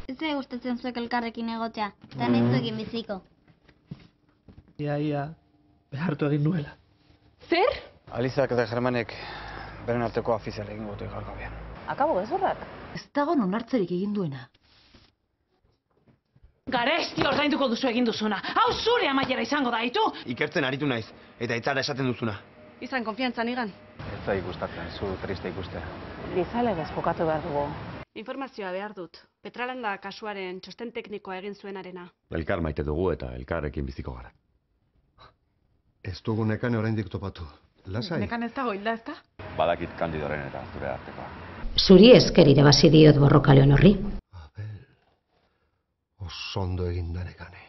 Ez zai gustatzen zuek elkarrekin egotea, eta nahizuekin biziko. Ia, behartu egin nuela. Zer? Alizak eta Germanek beren arteko afizial egin gote gaur gabean. Akabo gezurrak. Ez dago onartzerik egin duena. Garesti ordainduko duzu egin duzuna. Hau zure amaiera izango da, itu? Ikertzen aritu naiz, eta itzara esaten duzuna. Izan konfiantzan igan. Ez da gustatzen, zu triste ikustea. Gizalegez jokatu behar dugu. Informazioa behar dut. Petralanda kasuaren txosten teknikoa egin zuenarena. Elkar maite dugu eta elkarrekin biziko gara. Ez dugu Nekane oraindik topatu. Lasai. Nekan ez dago hilda, ezta? Badakit Kandidoren eta zure artekoa. Zuri esker irabazi diot borrokaleon horri. Abel, oso ondo egin da Nekane.